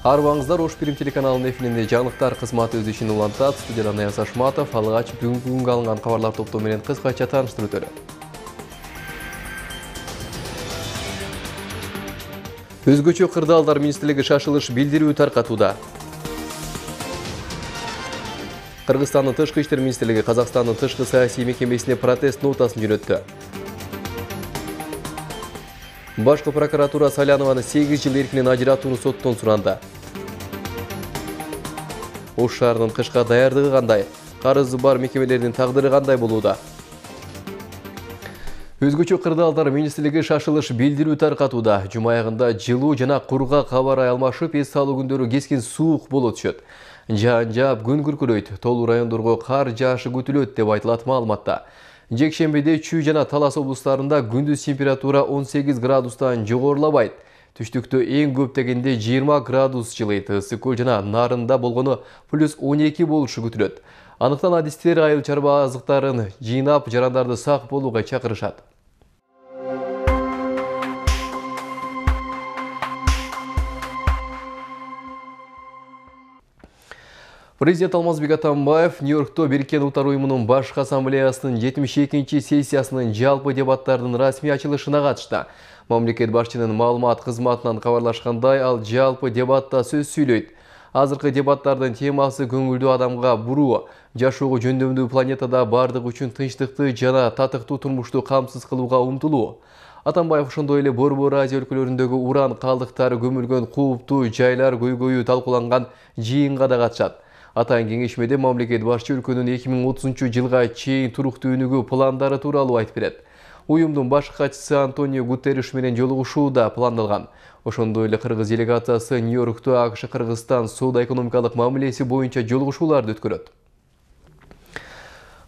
Арбаңыздар Ош Бирим телеканалынын эфиринде жаңылыктар кызматы өз ишин улантат. Студиядан Аяз Ашматов алгач бүгүнкү күнгө алынган кабарлар топтоо менен кыскача тааныштырып өтөлү. Өзгөчө кырдаалдар министрлиги шашылыш билдирүү таркатууда. Кыргызстандын тышкы иштер министрлиги Казакстандын тышкы саясий мекемесине протест нотасын жөнөттү. Башкы прокуратура Салянованы 8 жыл эркинен ажыратууну соттон суранды. Ош шаарынын кышка даярдыгы кандай? Карызы бар мекемелердин тагдыры кандай болууда? Өзгөчө кырдаалдар министрлиги шашылыш билдирүү таркатууда. Жума аягында жылуу жана кургак кабар алмашып, эс салуу күндөрү кескин суук боло түшөт. Жаан жаап, күн күркүрөйт, толуу райондорго кар жаашы күтүлөт деп айтылат маалыматта. Жекшембиде Чүй жана Талас облустарында күндүз температура 18 градустан жогорулабайт. Түштүктө эң көп дегенде 20 градус жылыйт. Ысык көл жана Нарында болгону +12 болушу күтүлөт. Анықтан адистер айыл чарба азыктарын жыйнап, жарандарды сак болууга чакырышат. Президент Алмазбек Атамбаев Нью-Йоркто Бириккен Улуттар уюмунун башкы ассамблеясынын 72-чи сессиясынын жалпы дебаттардын расмий ачылышына катышты. Мамлекет башчынын маалымат кызматынан кабарлашкандай, ал жалпы дебатта сөз сүйлөйт. Азыркы дебаттардын темасы көңүлдүү адамга буруу, жашоого жөндөмдүү планетада бардык үчүн тынчтыкты жана татыктуу турмушту камсыз кылууга умтулуу. Атамбаев ошондой эле Борбор Азия өлкөлөрүндөгү уран калдыктары көмүлгөн кууптуу жайлар көйгөйү талкууланган жыйынга да катышат. Атайын кеңешмеде мамлекет башчы өлкөнүн 2030 жылга чейин туруктуу өнүгүү пландары тууралуу айтып берет. Уюмдун башкы катчысы Антонио Гутерриш менен жолугушуу да пландалган. Ошондой эле кыргыз делегациясы Нью-Йоркто АКШ-Кыргызстан соода-экономикалык мамилеси боюнча жолугушууларды өткөрөт.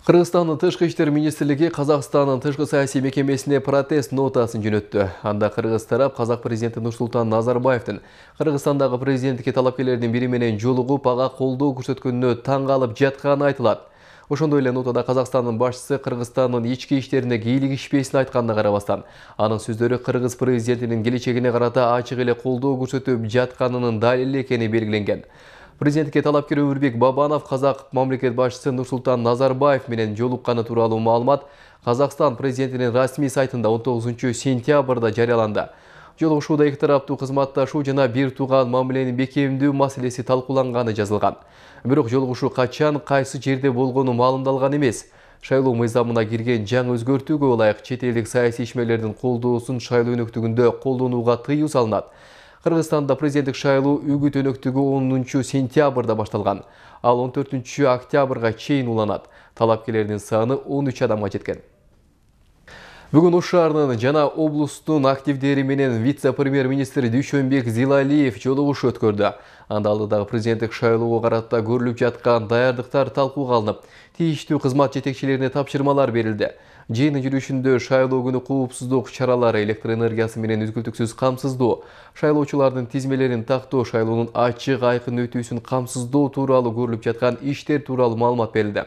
Кыргызстандын тышкы иштер министрлиги Казакстандын тышкы саясий мекемесине протест нотасын жөнөттү. Анда кыргыз тарап Казак президенти Нурсултан Назарбаевдин Кыргызстандагы президенттикке талапкерлердин бири менен жолугуп, ага колдоо көрсөткөнүнө таң калып жатканы айтылат. Ошондой эле нотада Казакстандын башчысы Кыргызстандын ички иштерине кийлигишпесин айтканына карабастан, анын сөздөрү кыргыз президентинин келечегине карата ачык эле колдоо көрсөтүп жатканынын далили экени белгиленген. Президентке талапкер Өмүрбек Бабанов Казак мамлекет башчысы Нурсултан Назарбаев менен жолукканы тууралуу маалымат Казакстан президентинин расмий сайтында 19 сентябрда жарыяланды. Жолугушууда эки тараптуу кызматташуу жана бир тууган мамиленин бекемдүү маселеси талкууланганы жазылган. Бирок жолугушуу качан, кайсы жерде болгону маалымдалган эмес. Шайлоо мыйзамына кирген жаңы өзгөртүүгө ылайык чет элдик саясий ишмерлердин колдоосун шайлоо өнөктүгүндө колдонууга тыюу салынат. Кыргызстанда президенттик шайлоо үгүт өнөктүгү 10 сентябрда башталган. Ал 14 октябрга чейин уланат. Талапкерлердин саны 13 адамга жеткен. Бүгүн Ош шаарынын жана облустун активдери менен вице-премьер-министр Дүйшөнбек Зилалиев жолугушуу өткөрдү. Анда алдыдагы президенттик шайлоого карата көрүлүп жаткан даярдыктар талкууга алынып, тийиштүү кызмат жетекчилерине тапшырмалар берилди. Жыйындын жүрүшүндө шайлоо күнү коопсуздук чаралары, электр энергиясы менен үзгүлтүксүз камсыздоо, шайлоочулардын тизмелерин тактоо, шайлоонун ачык айкын өтүүсүн камсыздоо тууралуу көрүлүп жаткан иштер тууралуу маалымат берилди.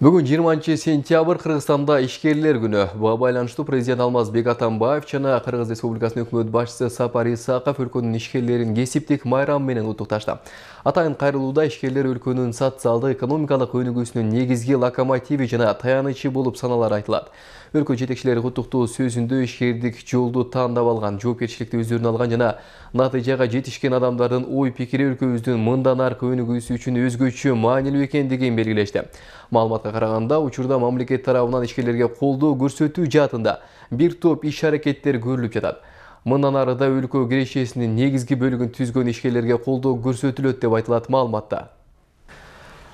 Бүгүн 20 сентябрь Кыргызстанда ишкерлер күнү. Буга байланыштуу президент Алмазбек Атамбаев жана Кыргыз Республикасынын өкмөт башчысы Сапар Исаков өлкөнүн ишкерлерин кесиптик майрам менен куттукташты. Атайын кайрылууда ишкерлер өлкөнүн социалдык экономикалык өнүгүүсүнүн негизги локомотиви жана таянычы болуп саналары айтылат. Өлкө жетекчилери куттуктоо сөзүндө ишкердик жолду тандап алган, жоопкерчиликти өздөрүнө алган жана натыйжага жетишкен адамдардын ой пикири өлкөбүздүн мындан аркы өнүгүүсү үчүн өзгөчө маанилүү экендигин белгилешти. Маалыматка караганда, учурда мамлекет тарабынан ишкерлерге колдоо көрсөтүү жаатында бир топ иш-аракеттер көрүлүп жатат. Мындан арыда өлкө кирешесинин негизги бөлүгүн түзгөн ишкерлерге колдоо көрсөтүлөт деп айтылат маалыматта.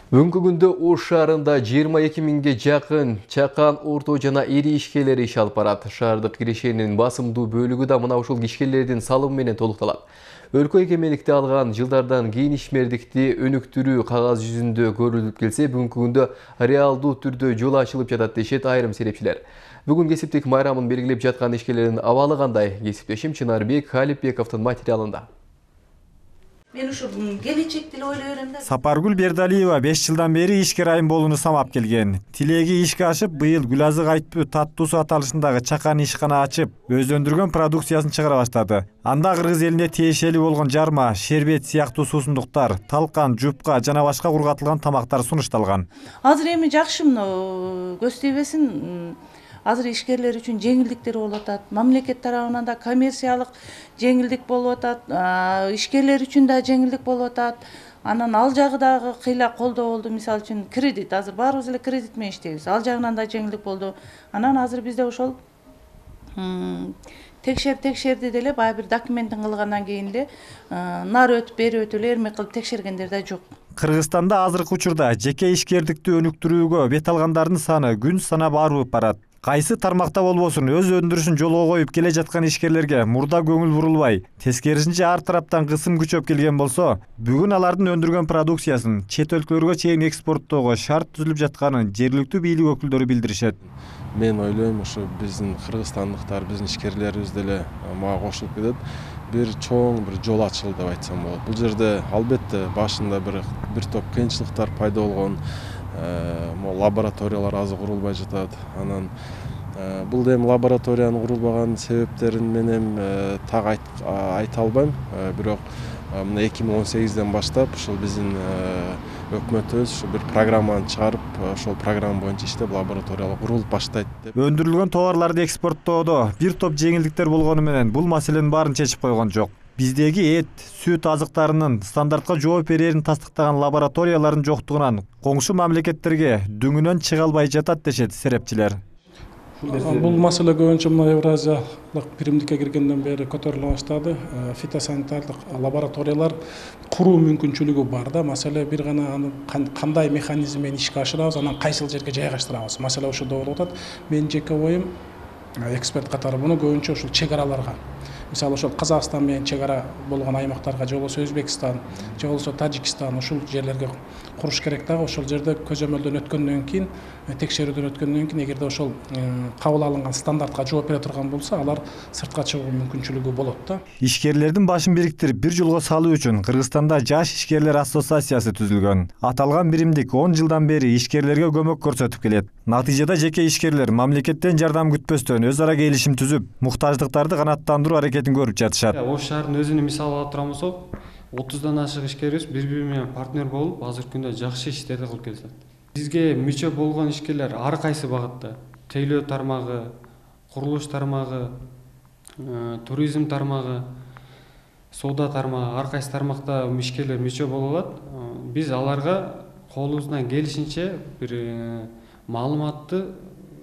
Бүгүнкү күндө Ош шаарында 22 миңге жакын чакан, орто жана ири ишкерлер иш алып барат. Шаардык кирешенин басымдуу бөлүгү да мына ушул ишкерлердин салымы менен толукталат. Өлкө эгемендикти алган жылдардан кийин ишмердикти өнүктүрүү кагаз жүзүндө көрүлүп келсе, бүгүнкү күндө реалдуу түрдө жол ачылып жатат дешет айрым серепчилер. Бүгүн кесиптик майрамын белгилеп жаткан ишкерлердин абалы кандай? Кесиптешим Чынарбек Халипбековдун материалында. Мен ушу келечекти эле ойлой берем да. Сапаргүл Бердалиева 5 жылдан бери ишкер айым болууну самап келген. Тилеги ишке ашып, быйыл Гүлазык Айтпүү таттуусу аталышындагы чакан ишкана ачып, өздөндүргөн продукциясын чыгара баштады. Анда кыргыз элине тиешелүү болгон жарма, шербет сыяктуу суусундуктар, талкан, жупка жана башка кургатылган тамактар сунушталган. Азыр эми жакшы мына көз тийбесин. Азыр ишкерлер үчүн жеңилдиктер болуп атат. Мамлекет тарабынан да коммерциялык жеңилдик болуп атат. Ишкерлер үчүн да жеңилдик болуп атат. Анан ал жагы дагы кыйла колдоо болду. Мисалы үчүн кредит. Азыр баарыбыз эле кредит менен иштейбиз. Ал жагынан да жеңилдик болду. Анан азыр бизде ошол текшерди деле баягы бир документин кылгандан кийин эле нары өтүп, бери өтүп эле эрмек кылып текшергендер да жок. Кыргызстанда азыркы учурда жеке ишкердикти өнүктүрүүгө бет алгандардын саны күн санап арып барат. Кайсы тармакта болбосун өз өндүрүшүн жолго коюп келе жаткан ишкерлерге мурда көңүл бурулбай, тескерисинче ар тараптан кысым күчөп келген болсо, бүгүн алардын өндүргөн продукциясын чет өлкөлөргө чейин экспорттоого шарт түзүлүп жатканын жергиликтүү бийлик өкүлдөрү билдиришет. Мен ойлойм, ушу биздин кыргызстандыктар, биздин ишкерлерибиз деле мага кошулуп кетет. Бир чоң бир жол ачылды деп айтсам болот. Бул жерде албетте башында бир топ кыйынчылыктар пайда болгон. Лабораториялар азыр курулбай жатат. Анан бул эми лабораториянын курулбаган себептерин мен эми так айта албайм. Бирок мына 2018ден баштап ушул биздин өкмөтүбүз ушу бир программаны чыгарып, ошол программа боюнча иштеп лабораториялар курулуп баштайт деп. Өндүрүлгөн товарларды экспорттоодо бир топ жеңилдиктер болгону менен бул маселенин баарын чечип койгон жок. Биздеги эт, сүт азыктарынын стандартка жооп берерин тастыктаган лабораториялардын жоктугунан коңшу мамлекеттерге дүңүнөн чыга албай жатат дешет серепчилер. Бул маселе көбүнчө мына Евразиялык биримдикке киргенден бери көтөрүлө баштады. Фитосанитардык лабораториялар куруу мүмкүнчүлүгү бар да. Маселе бир гана аны кандай механизм менен ишке ашырабыз, анан кайсыл жерге жайгаштырабыз. Маселе ошондо болуп атат. Менин жеке оюм, эксперт катары буну көбүнчө ушул чек араларга, мисалы ошол Казакстан менен чек ара болгон аймактарга, же болбосо Өзбекстан, же болбосо Тажикстан ушул жерлерге куруш керек дагы. Ошол жерде көзөмөлдөн өткөндөн кийин, текшерүүдөн өткөндөн кийин, эгерде ошол кабыл алынган стандартка жооп бере турган болсо, алар сыртка чыгуу мүмкүнчүлүгү болот да. Ишкерлердин башын бириктирип бир жолго салуу үчүн Кыргызстанда Жаш ишкерлер ассоциациясы түзүлгөн. Аталган биримдик 10 жылдан бери ишкерлерге көмөк көрсөтүп келет. Натыйжада жеке ишкерлер мамлекеттен жардам күтпөстөн өз ара келишим түзүп, муктаждыктарды канааттандыруу аракетин көрүп жатышат. Ош шаарынын өзүнүн мисалы алып турган болсок, 30дан ашык ишкерибиз бири-бири менен партнер болуп, азыркы күндө жакшы иштерди кылып келишет. Бизге мүчө болгон ишкерлер ар кайсы багытта, тейлөө тармагы, курулуш тармагы, туризм тармагы, соода тармагы, ар кайсы тармакта ишкерлер мүчө боло алат. Биз аларга колубуздан келишинче бир маалыматты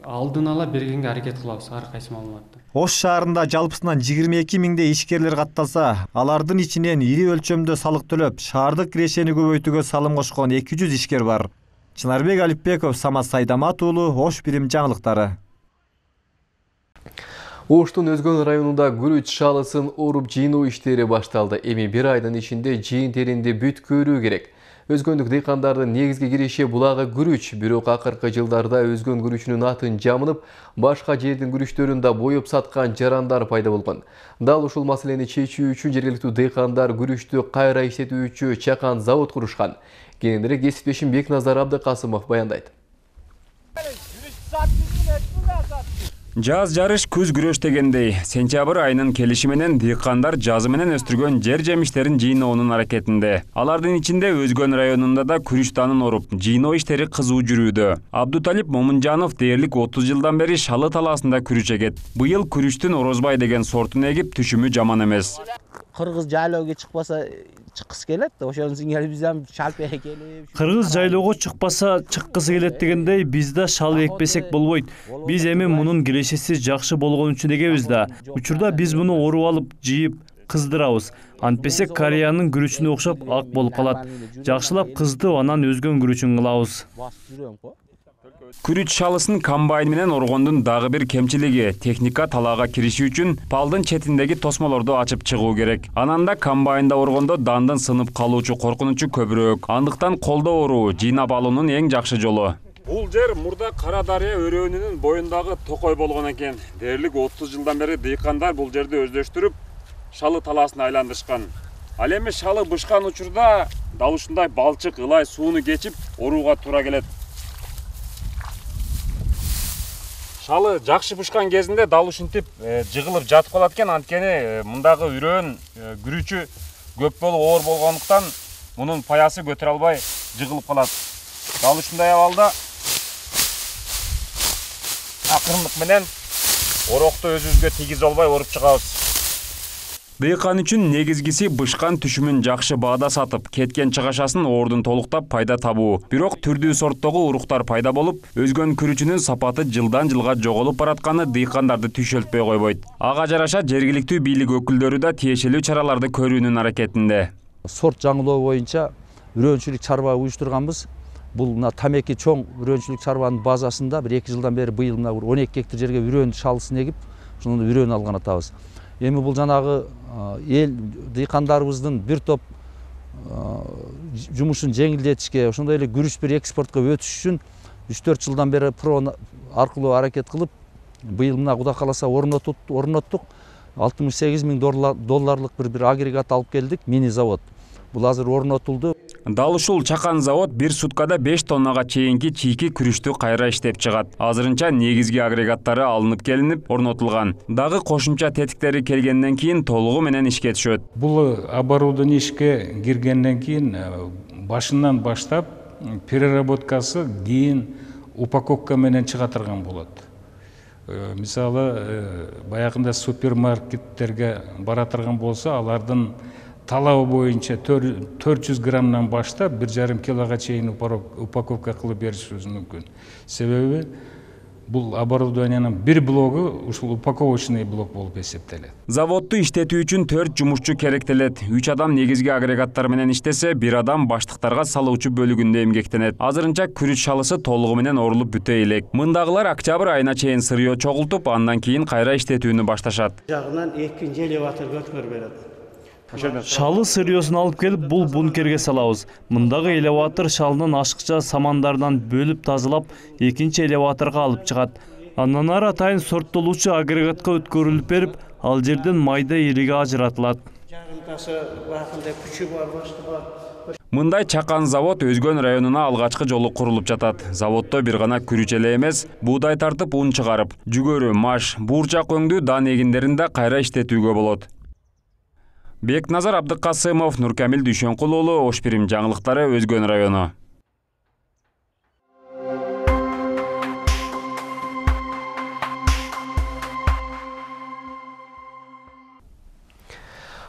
алдын ала бергенге аракет кылабыз, ар кайсы маалыматты. Ош шаарында жалпысынан 22 миңдей ишкерлер катталса, алардын ичинен ири өлчөмдө салык төлөп, шаардык кирешени көбөйтүүгө салым кошкон 200 ишкер бар. Чынарбек Алипбеков, Самат Сайдамат уулу, Ош бирим жаңылыктары. Оштун Өзгөн районунда күрүч шалысын оруп жыйноо иштери башталды. Эми бир айдын ичинде жыйын теринди бүткөрүү керек. Өзгөндүк дыйкандардын негизги киреше булагы күрүч, бирок акыркы жылдарда өзгөн күрүчүнүн атын жамынып, башка жердин күрүчтөрүн да боюп саткан жарандар пайда болгон. Дал ушул маселени чечүү үчүн жергиликтүү дыйкандар күрүчтү кайра иштетүүчү чакан завод курушкан. Кийинирээк кесиптешим Бекназар Абдыкасымов баяндайт. Жаз жарыш күз күрөш дегендей, сентябрь айынын келиши менен дыйкандар жазы менен өстүргөн жер жемиштерин жыйноонун аракетинде. Алардын ичинде Өзгөн районунда да күрүч данын оруп, жыйноо иштери кызуу жүрүүдө. Абдуталип Момунжанов дээрлик 30 жылдан бери Шалы талаасында күрүч эгет. Быйыл күрүчтүн Орозбай деген сортун эгип, түшүмү жаман эмес. Кыргыз жайлоого чыкпаса чыккысы келет, ошонун сиңери биз ham шалп экелип. Кыргыз жайлоого чыкпаса чыккысы келет дегендей, биз да шал экпесек болбойт. Биз эми мунун кирешеси жакшы болгон үчүн эгебиз да. Учурда биз муну оруп алып, жыйып, кыздырабыз. Антпесек Кореянын күрүчүнө окшоп ак болуп калат. Жакшылап кыздып, анан өзгөн күрүчүн кылабыз. Күрүч шалысын комбайн менен оргондун дагы бир кемчилиги техника талаага кириши үчүн палдын четиндеги тосмолорду ачып чыгуу керек. Ананда комбайнда оргондо дандын сынып калуучу коркунучу көбүрөөк. Андыктан колдо оруу, жыйнап алуунун эң жакшы жолу. Бул жер мурда Кара дарыя өрөөнүнүн боюндагы токой болгон экен. Дээрлик 30 жылдан бери дыйкандар бул жерди өздөштүрүп, Шалы талаасын айландырышкан. Ал эми шалы бышкан учурда дал ушундай балчык ылай сууну кечип орууга туура келет. Шалы жакшы бышкан кезинде дал ушинтип жыгылып жатып калат экен, анткени мындагы үрөөн күрүчү көп болуп оор болгондуктан мунун паясы көтөрө албай жыгылып калат. Дал ушундай абалда акырындык менен орокту өзүбүзгө тийгизе албай оруп чыгабыз. Дыйкан үчүн негизгиси бышкан түшүмүн жакшы баада сатып, кеткен чыгашасын ордун толуктап пайда табуу. Бирок түрдүү сорттогу уруктар пайда болуп, өзгөн күрүчүнүн сапаты жылдан жылга жоголуп баратканы дыйкандарды түйшөлтпөй койбойт. Ага жараша жергиликтүү бийлик өкүлдөрү да тиешелүү чараларды көрүүнүн аракетинде. Сорт жаңылоо боюнча үрөөнчүлүк чарба уюштурганбыз. Бул мына тамеки чоң үрөөнчүлүк чарбанын базасында 1-2 жылдан бери быйыл мына 12 гектар жерге үрөөн шалысын эгип, ошондон үрөөн алган атабыз. Эми бул жанагы эл дыйкандарыбыздын бир топ жумушун жеңилдетишке, ошондой эле күрүч бир экспортко өтүш үчүн 3-4 жылдан бери ПРО аркылуу аракет кылып, быйыл мына Кудай кааласа орноттук. 68 000 долларлык бир агрегат алып келдик, мини завод. Бул азыр орнотулду. Дал ушул чакан завод бир суткада 5 тоннага чейинки чийки күрүчтү кайра иштеп чыгат. Азырынча негизги агрегаттары алынып келинип, орнотулган. Дагы кошумча тетиктери келгенден кийин толугу менен ишке түшөт. Бул оборудование ишке киргенден кийин башынан баштап переработкасы кийин упаковка менен чыга турган болот. Мисалы, баягында супермаркеттерге бара турган болсо, алардын талабы боюнча 400 граммдан баштап 1,5 килога чейин упаковка кылып беришибиз мүмкүн. Себеби бул оборудованиянын бир блогу ушул упаковочный блок болуп эсептелет. Заводду иштетүү үчүн 4 жумушчу керектелет. 3 адам негизги агрегаттар менен иштесе, 1 адам баштыктарга салуучу бөлүгүндө эмгектенет. Азырынча күрүч шалысы толугу менен орулуп бүтө элек. Мындагылар октябрь айына чейин сырьё чогултуп, андан кийин кайра иштетүүнү башташат. Жагынан 2 элеватор көтөрүп берет. Шалы сырьёсун алып келип, бул бункерге салабыз. Мындагы элеватор шалынын ашыкча самандардан бөлүп тазалап, экинчи элеваторго алып чыгат. Андан ары атайын сорттолуучу агрегатка өткөрүлүп берип, ал жерден майда ириги ажыратылат. Жагынтасы бакындай күчү бар, башкы бар. Мындай чакан завод Өзгөн районуна алгачкы жолу курулуп жатат. Заводдо бир гана күрүч эле эмес, буудай тартып ун чыгарып, жүгөрү, маш, буурчак өңдүү дан эгиндерин да кайра иштетүүгө болот. Бекназар Абдыкасымов, Нуркамил Дүйшөнкул уулу, Ош Пирим жаңылыктары, Өзгөн району.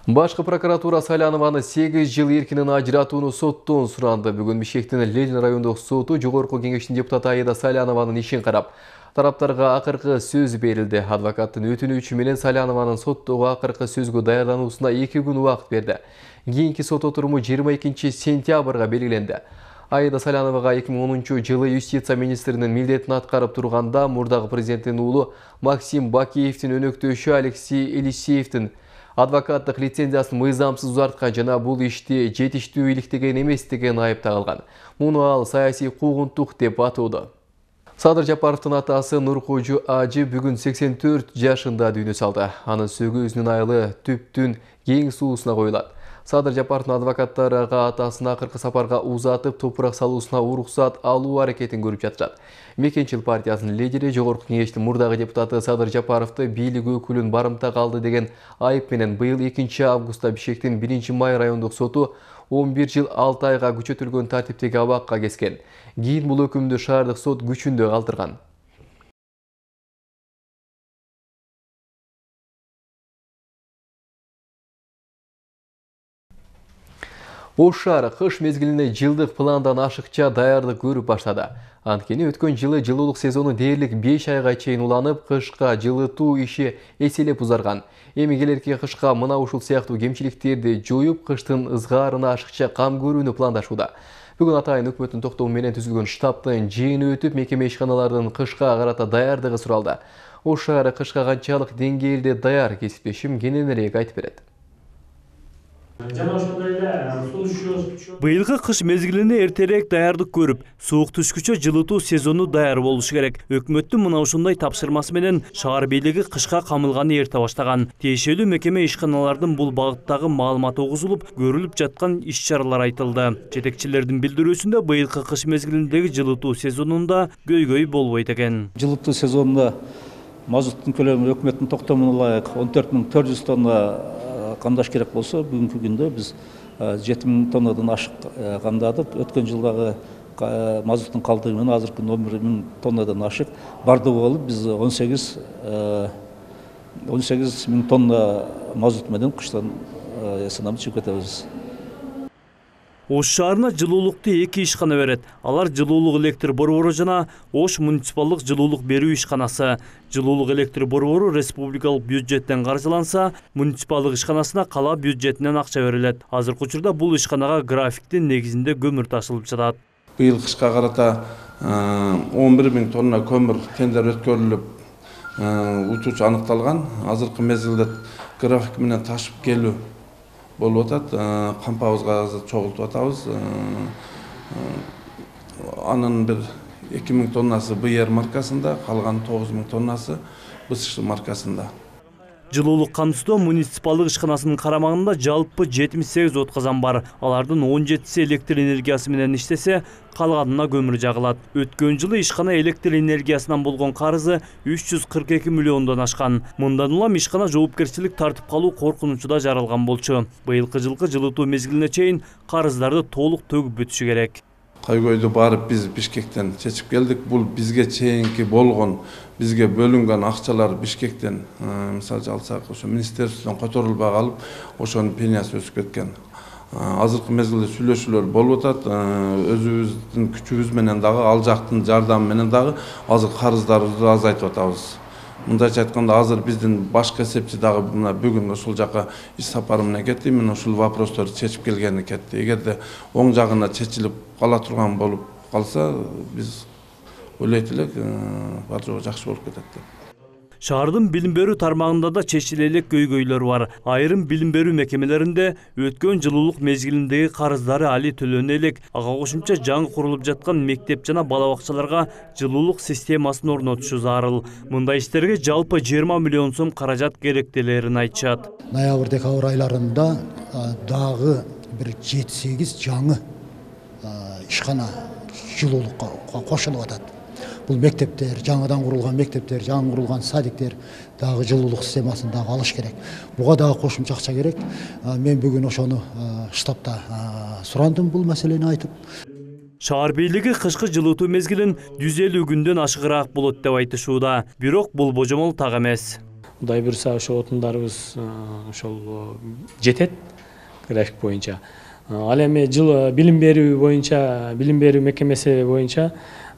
Башкы прокуратура Салянованы 8 жыл эркинен ажыратууну соттон суранды. Бүгүн Бишкектин Ленин райондук соту жогорку кеңештин депутаты Аида Салянованын ишин карап, тараптарга акыркы сөз берилди. Адвокаттын өтүнүүчү менен Салянованын соттогу акыркы сөзгө даярдануусуна 2 күн убакыт берди. Кийинки сот отуруму 22 сентябрга белгиленди. Аида Саляновага 2010 жылы юстиция министринин милдетин аткарып турганда мурдагы президенттин уулу Максим Бакиевдин өнөктөшү Алексей Елисеевдин адвокаттык лицензиясын мыйзамсыз узарткан жана бул ишти жетиштүү иликтеген эмес деген айып тагылган. Муну ал саясий куугунтук деп атоодо. Садыр Жапаровдун атасы Нуркожу Ажы бүгүн 84 жашында дүйнө салды. Анын сөгүүзүнүн айылы Түптүн кең суусуна коюлат. Садыр Жапаровдун адвокаттары атасын акыркы сапарга узатып, топурак салуусуна уруксат алуу аракетин көрүп жатышат. Мекенчил партиясынын лидери, жогорку кеңештин мурдагы депутаты Садыр Жапаровду бийлик өкүлүн барымта калды деген айып менен быйыл 2 августта Бишкектин 1 май райондук соту 11 жыл 6 айга күчөтүлгөн тартиптеги абакка кескен. Кийин бул өкүмдү шаардык сот күчүндө калтырган. Ош шаары кыш мезгилине жылдык пландан ашыкча даярдык көрүп баштады. Анткени өткөн жылы жылуулук сезону дээрлик 5 айга чейин уланып, кышка жылытуу иши эселеп узарган. Эми келерки кышка мына ушул сыяктуу кемчиликтерди жоюп, кыштын ызгаарына ашыкча кам көрүүнү пландашууда. Бүгүн атайын өкмөттүн токтому менен түзүлгөн штабтын жыйыны өтүп, мекеме ишканаларынын кышка карата даярдыгы суралды. Ош шаары кышка канчалык деңгээлде даяр, кесиптешим кененирээк айтып берет. Жана ошондой эле суу Быйылгы кыш мезгилине эртерээк даярдык көрүп, суук түшкүчө жылытуу сезону даяр болушу керек. Өкмөттүн мына ушундай тапшырмасы менен шаар бийлиги кышка камылганы эрте баштаган. Тиешелүү мекеме ишканалардын бул багыттагы маалыматы угузулуп, көрүлүп жаткан иш-чаралар айтылды. Жетекчилердин билдирүүсүндө быйылкы кыш мезгилиндеги жылытуу сезонунда көйгөй болбойт экен. Жылытуу сезонунда мазуттун көлөмү өкмөттүн токтомуна ылайык 14.400 тонна камдаш керек болсо, бүгүнкү күндө биз 7.000 тоннадан ашык камдадык. Өткөн жылдагы мазуттун калдыгы менен азыркы 11.000 тоннадан ашык. Бардыгы болуп биз 18.000 тонна мазут менен кыштан сынамды чыгып кетебиз. Ош шаарына жылуулукту 2 ишкана берет. Алар жылуулук электр борбору жана Ош муниципалдык жылуулук берүү ишканасы. Жылуулук электр борбору республикалык бюджеттен каржыланса, муниципалдык ишканасына кала бюджетинен акча берилет. Азыркы учурда бул ишканага графиктин негизинде көмүр ташылып жатат. Быйыл кышка карата 11.000 тонна көмүр тендер өткөрүлүп, учуучу аныкталган. Азыркы мезгилде график менен ташып келүү болуп атат. Кампабызга чогултуп атабыз. Анын бир 2.000 тоннасы БР маркасында, калган 9.000 тоннасы БСШ маркасында. Жылуулук камсыздоо муниципалдык ишканасынын карамагында жалпы 78 отказан бар. Алардын 17си электр энергиясы менен иштесе, калганына көмүр жагылат. Өткөн жылы ишкана электр энергиясынан болгон карызы 342 миллиондон ашкан. Мындан улам ишкана жоопкерчилик тартып калуу коркунучу да жаралган болчу. Быйылкы жылкы жылытуу мезгилине чейин карыздарды толук төгүп бүтүшү керек. Көйгөйдү барып биз Бишкектен чечип келдик. Бул бизге чейинки болгон, бизге бөлүнгөн акчалар Бишкектен, мисалы алсак, ошо министрликтен которулбай калып, ошонун пениясы өсүп кеткен. Азыркы мезгилде сүйлөшүүлөр болуп атат. Өзүбүздүн күчүбүз менен дагы, ал жактын жардамы менен дагы азыр карыздарыбызды азайтып атабыз. Мындайча айтканда, азыр биздин башкы эсепчи дагы бүгүн ушул жака иш сапары менен кетти. Мен ушул вопросторду чечип келгени кетти. Эгерде оң жагына чечилип кала турган болуп калса, биз ойлойт элек, бар жогу жакшы болуп кетет деп. Шаардын билим берүү тармагында да чечиле элек көйгөйлөр бар. Айрым билим берүү мекемелеринде өткөн жылуулук мезгилиндеги карыздары али төлөнө элек. Ага кошумча жаңы курулуп жаткан мектеп жана бала бакчаларга жылуулук системасын орнотушу зарыл. Мындай иштерге жалпы 20 миллион сом каражат керектелерин айтышат. Ноябрь-декабрь айларында дагы бир 7-8 жаңы ишкана жылуулукка кошулуп атат. Бул мектептер, жаңыдан курулган мектептер, жаңы курулган садиктер дагы жылуулук системасын дагы алыш керек. Буга дагы кошумча акча керек. Мен бүгүн ошону штабта сурандым бул маселени айтып. Шаар бийлиги кышкы жылытуу мезгилин 150 күндөн ашыгыраак болот деп айтышууда. Бирок бул божомол так эмес. Кудай буйрса ошо отундарыбыз ошол жетет график боюнча. Ал эми жыл билим берүү боюнча, билим берүү мекемеси боюнча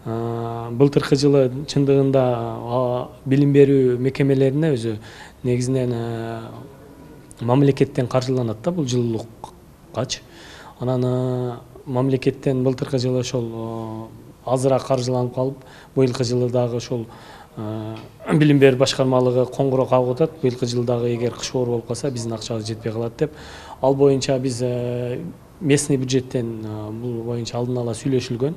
былтыркы жылы чындыгында билим берүү мекемелерине өзү негизинен мамлекеттен каржыланат да бул жылуулуккачы. Анан мамлекеттен былтыркы жылы ошол азыраак каржыланып калып, быйылкы жылы дагы ошол билим берүү башкармалыгы коңгуроо кагып атат. Быйылкы жылы дагы эгер кыш оор болуп калса, биздин акчабыз жетпей калат деп. Ал боюнча биз местный бюджеттен бул боюнча алдын ала сүйлөшүлгөн.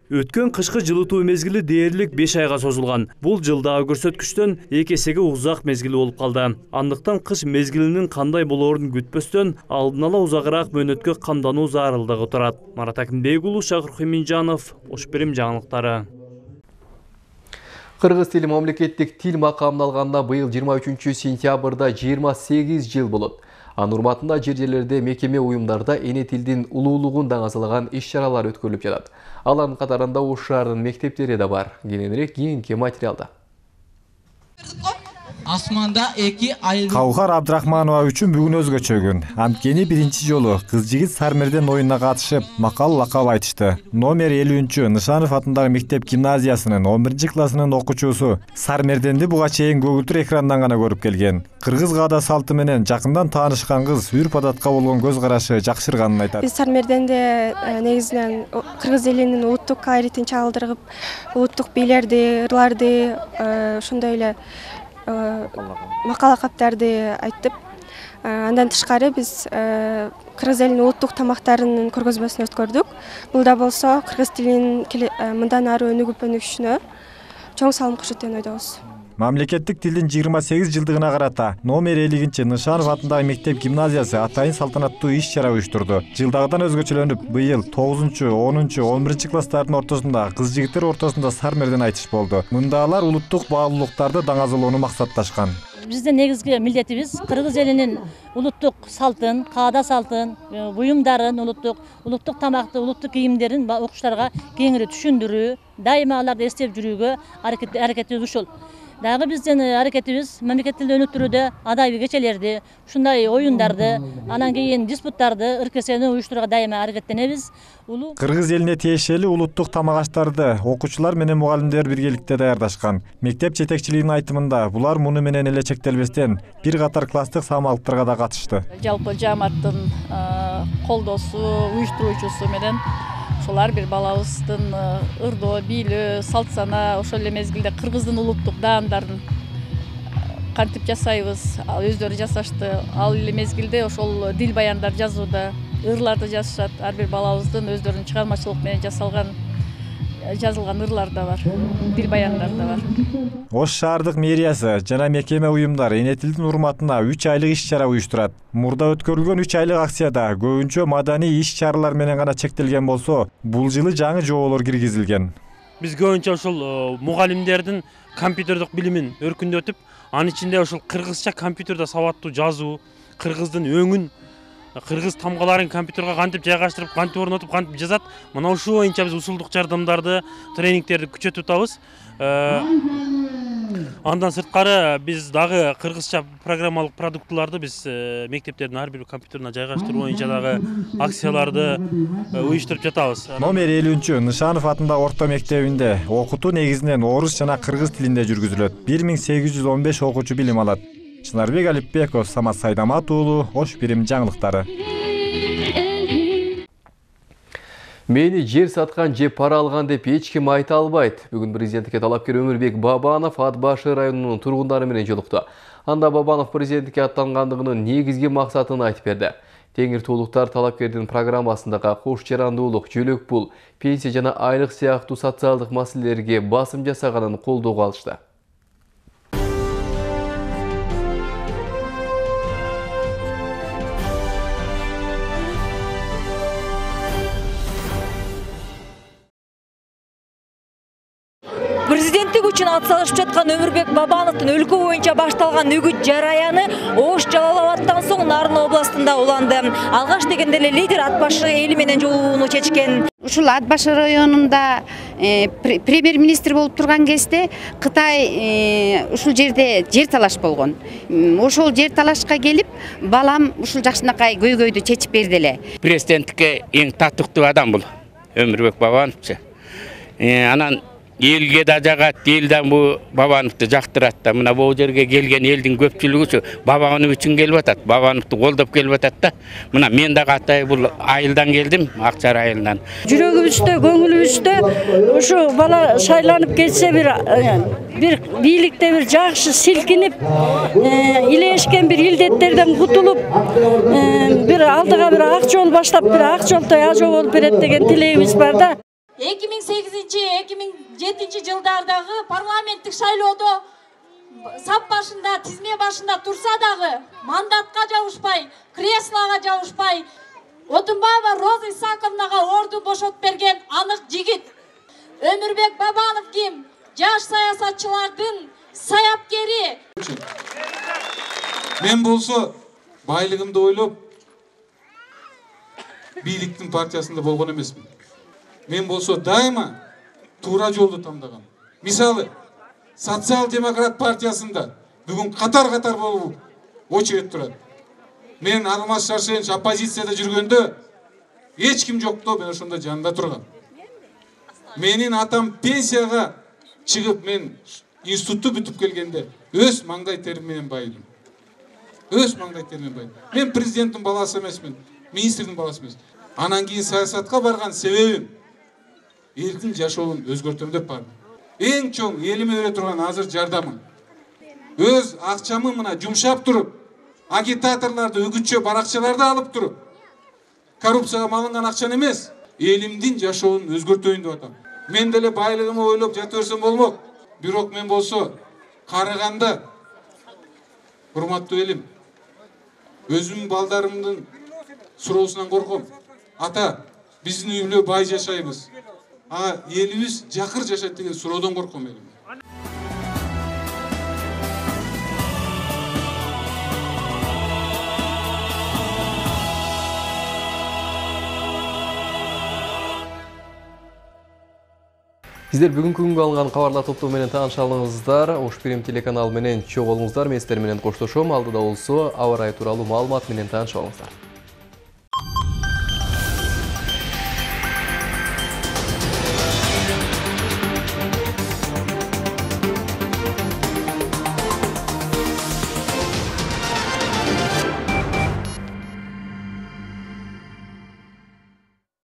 Өткөн кышкы жылытуу мезгили дээрлик 5 айга созулган. Бул жылдагы көрсөткүчтөн 2 эсеге узак мезгили болуп калды. Андыктан кыш мезгилинин кандай болоорун күтпөстөн алдын ала узагыраак мөөнөткө камдануу зарылдыгы турат. Марат Акимбек уулу, Шакыр Хеминжанов, Ош Бирим жаңылыктары. Кыргыз тили мамлекеттик тил макамын алганда быйыл 23 сентябрда 28 жыл болот. Анын урматында жер-жерлерде мекеме уюмдарда эне тилдин улуулугун даңазалаган иш-чаралар өткөрүлүп жатат. Алардын катарында Ош шаарынын мектептери да бар. Кененирээк кийинки материалда. Асманда эки айыл. Каухар Абдрахманова үчүн бүгүн өзгөчө күн. Анткени биринчи жолу кыз-жигит Сармерден оюнуна катышып, макал лакап айтышты. Номер 50 Нышанов атындагы мектеп гимназиясынын 11-классынын окуучусу Сармерденди буга чейин көгүлтүр экрандан гана көрүп келген. Кыргыз каада салты менен жакындан таанышкан кыз үрп-адатка болгон көз карашы жакшырганын айтат. Биз Сармерденде негизинен кыргыз элинин улуттук кайрытын чагылдырып, улуттук бийлерди, ырларды, ошондой эле макал лакаптарды айтып, Андан тышкары биз кыргыз элинин улуттук тамактарынын көргөзмөсүн өткөрдүк. Бул да болсо кыргыз тилинин мындан ары өнүгүшүнө чоң салым кошот деген ойдобуз. Мамлекеттик тилдин 28 жылдыгына карата номер 50 Нышанов атындагы мектеп гимназиясы атайын салтанаттуу иш-чара уюштурду. Жылдагыдан өзгөчөлөнүп, быйыл 9-10, 11 класстардын ортосунда кыз-жигиттер ортосунда сармерден айтыш болду. Мында алар улуттук баалуулуктарды даңазалоону максатташкан. Биздин негизги милдетибиз кыргыз элинин улуттук салтын, каада салтын, буюмдарын, улуттук тамакты, улуттук кийимдерин окуучуларга кеңири түшүндүрүү, дайыма аларды эстеп жүрүүгө аракетибиз ушул. Дагы биздин аракетибиз мамлекет тилди өнүктүрүүдө адабий кечелерди, ушундай оюндарды, анан кийин диспуттарды, ыркесени уюштурууга дайыма аракеттенебиз. Кыргыз элине тиешелүү улуттук тамак аштарды окуучулар менен мугалимдер биргеликте даярдашкан. Мектеп жетекчилигинин айтымында булар муну менен эле чектелбестен бир катар класстык самалыктарга да катышты. Жалпы жааматтын колдоосу, уюштуруучусу менен ошолар бир балабыздын ырдоо, бийлөө, салт сана, ошол эле мезгилде кыргыздын улуттук даамдарын кантип жасайбыз, өздөрү жасашты. Ал эле мезгилде ошол дил баяндар жазууда, ырларды жазышат. Ар бир балабыздын өздөрүнүн чыгармачылык менен жазылган ырлар да бар, дил баяндар да бар. Ош шаардык мэриясы жана мекеме уюмдар эне тилдин урматына 3 айлык иш-чара уюштурат. Мурда өткөрүлгөн 3 айлык акцияда көбүнчө маданий иш-чаралар менен гана чектелген болсо, бул жылы жаңы жоболор киргизилген. Биз көбүнчө ошол мугалимдердин компьютердик билимин өркүндөтүп, анын ичинде ошол кыргызча компьютерде сабаттуу жазуу, кыргыздын өңүн, кыргыз тамгаларын компьютерге кантип жайгаштырып, кантип орнотуп, кантип жазат. Мына ушул боюнча биз усулдук жардамдарды, тренингтерди күчөтүп атабыз. Андан сырткары биз дагы кыргызча программалык продуктуларды биз мектептердин ар бир компьютерине жайгаштыруу боюнча дагы акцияларды уюштуруп жатабыз. Номер 50 Нышанов атындагы орто мектебинде окутуу негизинен орус жана кыргыз тилинде жүргүзүлөт. 1815 окуучу билим алат. Чынарбек Алипбеков, Самат Сайдамат уулу, Ош Бирим жаңылыктары. Мени жер саткан же пара алган деп эч ким айта албайт. Бүгүн президенттикке талапкер Өмүрбек Бабанов Ат башы районунун тургундары менен жолукту. Анда Бабанов президенттикке аттангандыгынын негизги максатын айтып берди. Теңир туулуктар талапкердин программасындагы кош жарандуулук, жөлөк пул, пенсия жана айлык сыяктуу социалдык маселелерге басым жасаганын колдоого алышты. Президенттик үчүн ат салышып жаткан Өмүрбек Бабановдун өлкө боюнча башталган үгүт жараяны Ош Жалал Абадтан соң Нарын областында уланды. Алгаш дегенде эле лидер ат башы эли менен жолугууну чечкен. Ушул ат башы районунда премьер-министр болуп турган кезде Кытай ушул жерде жер талаш болгон. Ошол жер талашка келип, балам ушул жакшынакай көйгөйдү чечип берди эле. Президенттикке эң татыктуу адам бул Өмүрбек Бабановчу. Анан элге да жагат, элден бу Бабановду жактырат да. Мына бул жерге келген элдин көпчүлүгү Бабанов үчүн келип атат, Бабановду колдоп келип атат да. Мына мен дагы атай бул айылдан келдим, Акчар айылынан. Жүрөгүбүздө, көңүлүбүздө ушу бала шайланып кетсе бир бийликте бир жакшы силкинип, илешкен бир илдеттерден кутулуп, бир алдыга бир ак жол баштап, бир ак жолтой ажоо болуп берет деген тилегибиз бар да. 2008-2007 жылдардагы парламенттик шайлоодо сап башында, тизме башында турса дагы мандатка жабышпай, креслога жабышпай, Отунбаева Роза Исаковнага ордун бошотуп берген анык жигит. Өмүрбек Бабанов ким? Жаш саясатчылардын саяпкери. Мен болсо байлыгымды ойлоп бийликтин партиясында болгон эмесмин. Мен болсо дайыма туура жолду тандаган. Мисалы, социал-демократ партиясында бүгүн катар-катар болуп очередь турат. Мен Алмаз Шаршенович оппозицияда жүргөндө эч ким жокту, мен ошондо жанында тургам. Менин атам пенсияга чыгып, мен институтту бүтүп келгенде өз маңдай терим менен байдым. Өз маңдай терим менен байдым. Мен президенттин баласы эмесмин, министрдин баласы эмесмин. Анан кийин саясатка барган себебим элдин жашоонун өзгөртөм деп бардым. Эң чоң элиме бере турган азыр жардамым. Өз акчамы мына жумшап туруп, агитаторларды, үгүтчү баракчыларды алып туруп, коррупцияга малынган акчаны эмес, элимдин жашоонун өзгөртөйүн деп атам. Мен деле байлыгымы ойлоп жата берсем болмок. Бирок мен болсо карыганда, урматтуу элим, өзүмдүн балдарымдын суроосунан корком. Ата, биздин үйлө бай жашайбыз. Элибиз жакыр жашайт деген суроодон корком элим. Сиздер бүгүнкү күнгө алган кабарлар топтоо менен тааныша алыңыздар. Ош Прим телеканалы менен чогуу болуңуздар. Мен сиздер менен коштошом. Алдыда болсо аба ырайы тууралуу маалымат менен тааныша алыңыздар.